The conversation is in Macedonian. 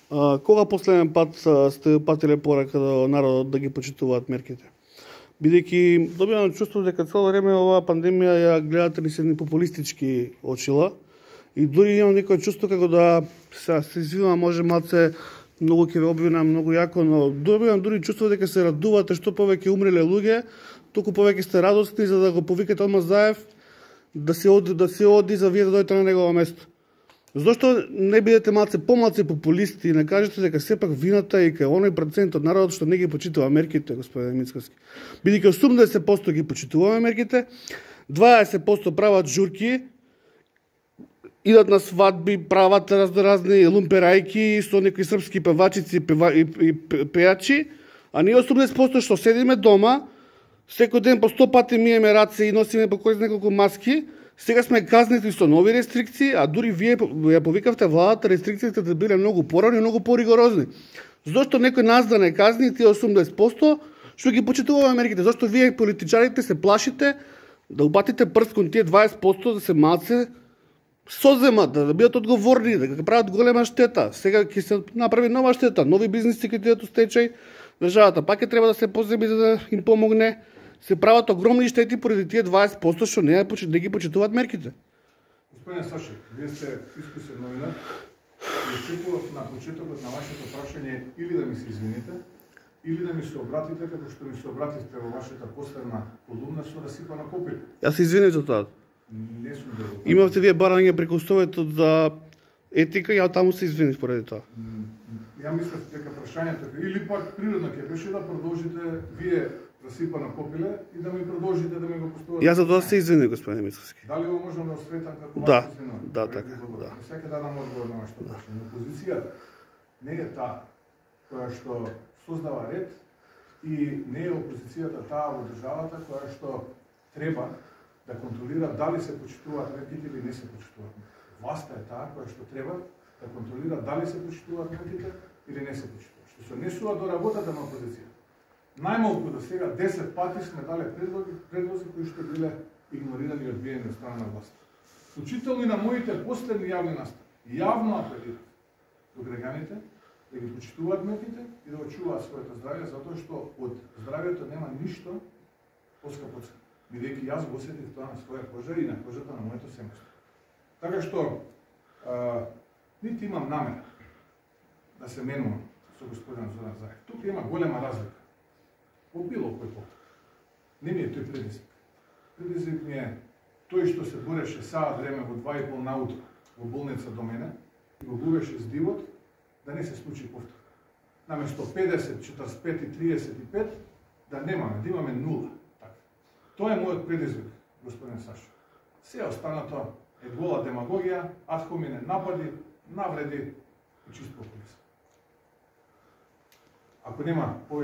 Кога последен пат сте упатиле порака до народот да ги почитуваат мерките? Бидејќи добивам чувство дека цело време оваа пандемија ја гледате ни се едни популистички очила и дури имам некој чувство како да се извинувам, може малце многу ќе ве обвинам многу јако, но добивам дури чувство дека се радувате што повеќе умреле луѓе, толку повеќе сте радосни за да го повикате одма Заев да се оди за вие да дојдете на негово место. Зошто не бидете помалце популисти и не кажете дека сепак вината е кај оној процент од народот што не ги почитува мерките, господин Мицкоски. Бидејќи 80% ги почитуваме мерките, 20% прават журки, идат на свадби, прават разни лумперајки со некои српски певачици и пејачи, а ние 80% што седиме дома, секој ден по 100 пати миеме раце и носиме по кој неколку маски. Сега сме казнети со нови рестрикции, а дури вие ја повикавте владата рестрикциите да биле многу порани и многу поригорозни. Зошто некој нас да не казни тие 80% што ги почитуваме мерките? Зошто вие политичарите се плашите да упатите прст кон тие 20% да се малце соземат, да бидат одговорни, да прават голема штета? Сега ќе се направи нова штета, нови бизниси ќе идат у стечај, државата пак ќе треба да се поземи за да им помогне. Се прават огромни штети поради тие 20% што не ги почитуваат мерките. Господине Сашев, вие сте искусен новинар и очекував на почетокот на вашето прашање или да ми се извините, или да ми се обратите како што ми се обративте во вашата последна колумна со расипано копиле. Јас се извинив за тоа. Не сум дело. Имавте вие барање преку Советот за етика, ја таму се извинив поради тоа. Ја мислев дека прашањето или пак природно ќе беше да продолжите вие расипано копиле и да ми продолжите да ми го поставите. Јас за тоа се извинив, господин Мицкоски. Дали го можам да осветам како Да, така, да. Сека да дам одговор на вашето прашање. Опозицијата не е таа која што создава ред и не е опозицијата таа во државата која што треба да контролира дали се почитуваат мерките или не се почитуваат мерките. Власта е таа која што треба да контролира дали се почитуваат мерките или не се почитуваат. Што се однесува до работата на опозицијата. Најмалку до сега 10 пати сме дале предлози кои што биле игнорирани и одбиени од страна на власта. Вклучително и на моите последни јавни настапи. Јавно апелирам до граѓаните да ги почитуваат мерките и да очуваат своето здравје, затоа што од здравјето нема ништо поскапо цена. Бидејќи јас го осетив тоа на своја кожа и на кожата на моето семејство. Така што нити имам намера да се менувам со господин Зоран Заев. Тука има голема разлика. По било кој повод. Не ми е тој предизвик. Предизвик ми е тој што се бореше саат време во 2:30 наутро во болница до мене и го губеше здивот да не се случи повтор. Наместо 50, 45 и 35 да немаме, да имаме 0. Така. Тоа е мојот предизвик, господин Сашо. Се останато е гола демагогија, ад хоминен напади, навреди и чист популизам. Ако нема